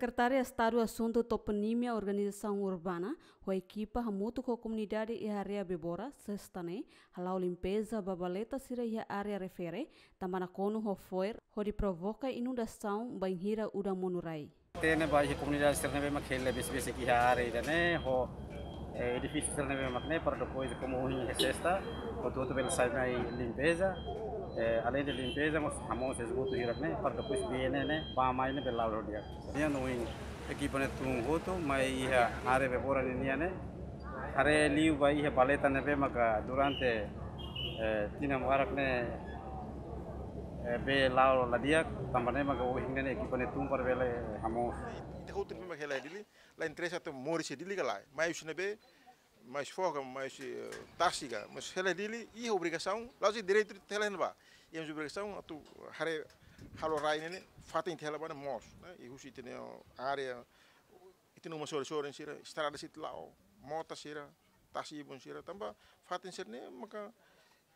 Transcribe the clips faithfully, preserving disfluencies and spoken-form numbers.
Sekretária Estadu Asuntu Toponímia Organizasaun Urbana ho ekipa hamutuk ho komunidade iha área Bebora, Sesta ne'e, hala'o limpeza ba baleta sira iha área refere, tanba nakonu ho fo'er, hodi provoka inundasaun bainhira udan monu rai. Hatene ba iha komunidade sira ne'ebé mak hela besik-besik iha área ida-ne'e, ho, eh, edifísiu sira ne'ebé mak ne'e, para depois, komu ohin iha Sesta, hotu-hotu bele sai mai limpeza, eh, além de limpeza, mós hamoos esgotu hirak ne'e, para depois bee ne'e, ne'e, bá mai ne'e bele la'o di'ak. Nian ohin ekipa ne'e tun hotu mai iha área Bebora ninian ne'e. Haree liu ba iha baleta ne'ebé maka durante, eh, tinan barak ne'e, eh, bee la'o la di'ak, tanba ne'e maka ohin ne'e ekipa ne'e tun para bele hamoos. Ita hotu ne'ebé mak hela Dili, la interesa atu moris iha Dili ka lae. Mai husi ne'ebé, mai husi foho ka, mai husi, eh, tasi ka, mas hela Dili, iha obrigasaun, la'ós direitu atu hela iha ne'ebá. Iha mós obrigasaun atu haree halo rai ne'e, fatin ita hela ba ne'e moos, ne'e? I husi ita-nia área, ita-nia uma sorin-sorin sira, estrada sira la'o, mota sira, tasi ibun sira, tanba fatin sira-ne'e, maka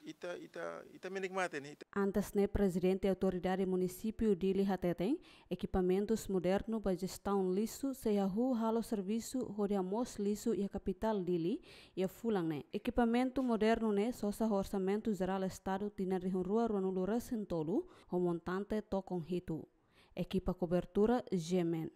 ita, ita, ita menikmati ne'e, ita. Antes ne'e, Prezidente Autoridade Munisípiu Dili hateten, ekipamentus modernu ba jestaun lixu sei hahú halo servisu hodi hamoos lixu iha kapitál Dili iha fulan ne'e. Ekipamentu modernu ne'e sosa ho Orsamentu Jerál Estadu tinan rihun rua ruanulu-resin-tolu, ho montante tokon hitu. Ekipa kobertura, G M N.